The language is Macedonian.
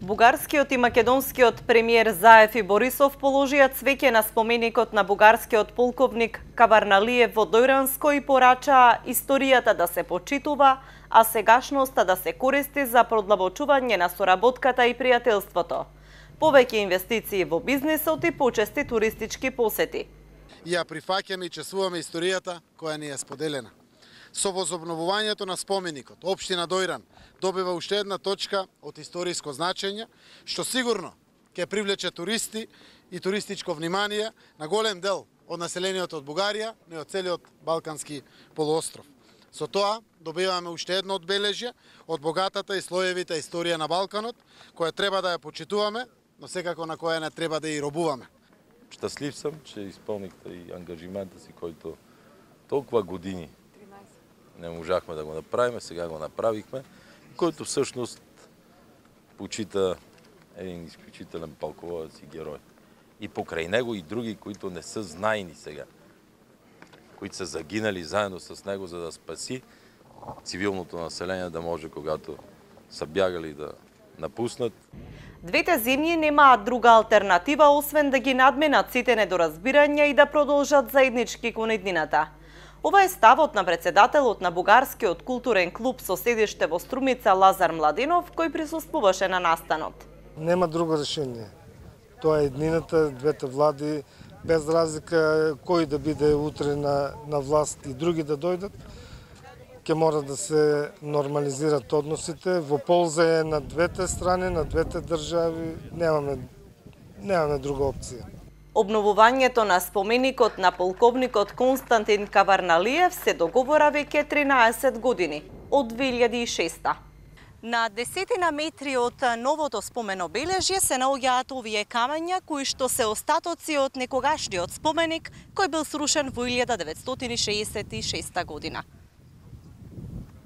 Бугарскиот и македонскиот премиер Заев и Борисов положија цвеќе на споменикот на бугарскиот полковник Каварналиев во Дојранско и порачаа историјата да се почитува, а сегашноста да се користи за продлабочување на соработката и пријателството. Повеќе инвестиции во бизнисот и почести туристички посети. Ја прифаќаме и чествуваме историјата која ни е споделена. Со возобновувањето на споменикот, општина Дојран добива уште една точка од историско значење, што сигурно ќе привлече туристи и туристичко внимание на голем дел од населението од Бугарија, но и од целиот Балкански полуостров. Со тоа добиваме уште едно одбележје од богатата и слоевита историја на Балканот, која треба да ја почитуваме, но секако на која не треба да ја робуваме. Щастлив сам, че исполнихте и ангажимента си, којто толкова години не можахме да го направиме, сега го направихме, којто всъщност почита един изключителен полководец и герой. И покрај него и други, които не са знаени сега, които са загинали заедно с него, за да спаси цивилното население, да може, когато са бягали, да напуснат. Двете земји немаат друга алтернатива, освен да ги надменат сите недоразбирања и да продолжат заеднички кон иднината. Ова е ставот на председателот на Бугарскиот културен клуб со седиште во Струмица Лазар Младинов, кој присуствуваше на настанот. Нема друго решение. Тоа е еднината, двете влади, без разлика кој да биде утре на власт и други да дојдат, ќе мора да се нормализират односите, во полза е на двете страни, на двете држави, немаме друга опција. Обновувањето на споменикот на полковникот Константин Каварналиев се договора веќе 13 години, од 2006. На десетина метри од новото споменобележје се наоѓаат овие камења, кои што се остатоци од некогашниот споменик, кој бил срушен во 1966 година.